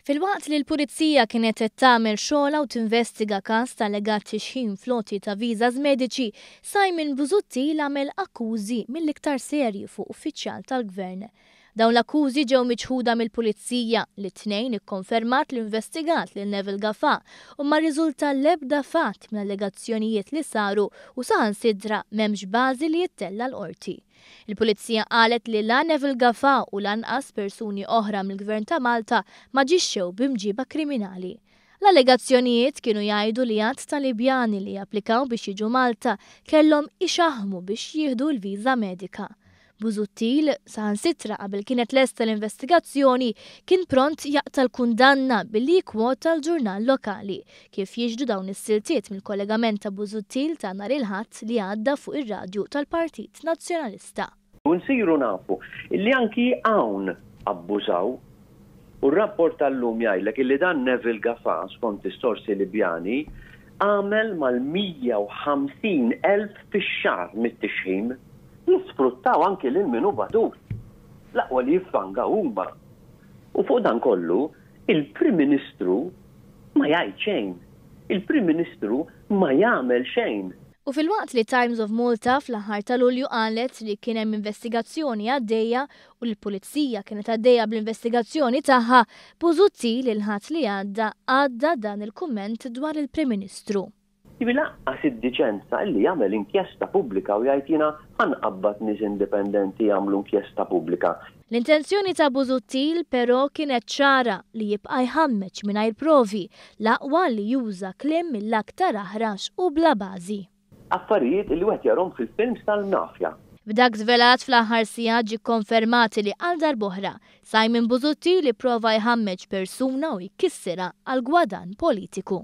Filwaqt li l-Pulizija kienet qed tagħmel xogħolha u tinvestiga każ ta' allegat tixħim fl-għoti ta' visas mediċi, Simon Busuttil għamel akkużi mill-iktar serji fuq uffiċjal tal-Gvern. Dawn l-akkużi ġew miċħuda mill-Pulizija, li t-Tnejn ikkonfermat li investigat lil Neville Gafà u ma rriżulta l-ebda fatt mill-allegazzjonijiet li saru u saħansitra m'hemmx bażi li jittella' l-Qorti. Il-Pulizija qalet li la Neville Gafà u lanqas persuni oħra mill-Gvern ta' Malta m'aġixxew b'imġiba kriminali. L-allegazzjonijiet kienu jgħidu li għadd ta' Libjani li applikaw biex jiġu Malta kellhom ixaħħmu biex jieħdu l-viża medika. Busuttil, saħansitra qabel kienet lesta l-investigazzjoni, kien pront jaqta' l-kundanna billi jikkwota l-ġurnal lokali, kif jixhdu dawn is-siltiet mill-kollegament ta' Busuttil ta' nhar il-Ħadd li għadda fuq ir-radju tal-Partit Nazzjonalista. U nsiru nafu illi anki hawn abbużaw. U r-rapport tal-lum jgħidlek illi dan Neville Gafà, skont is-sorsi Libjani, għamel mal-150 elf fix-xahar mit-tixħim. Jisfruttaw anki lil min hu batut. L-aqwa li jiffangaw huma. U fuq dan kollu, il-Prim Ministru ma jgħid xejn. Il-Prim Ministru ma jagħmel xejn. U filwaqt li Times of Malta fl-aħħar ta' Lulju qalet li kien hemm investigazzjoni għaddejja u li l-Pulizija kienet għaddejja bl-investigazzjoni tagħha, Busuttil il-Ħadd li għadda għadda dan il-kumment dwar il-Prim Ministru. Jiġifieri lanqas id-diċenza illi jagħmel inkjesta pubblika u jgħid jiena ħa nqabbad nies indipendenti jagħmlu inkjesta pubblika. L-intenzjoni ta' Busuttil però kienet ċara li jibqa' jħammeġ mingħajr provi, l-aqwa li juża kliem mill-aktar aħrax u bla bażi. Affarijiet illi wieħed jarhom fil-films tal-mafja. B'dak żvelat fl-aħħar sigħat ġie kkonfermat li għal darb'oħra, Simon Busuttil ipprova jħammeġ persuna u jkissirha għal gwadann politiku.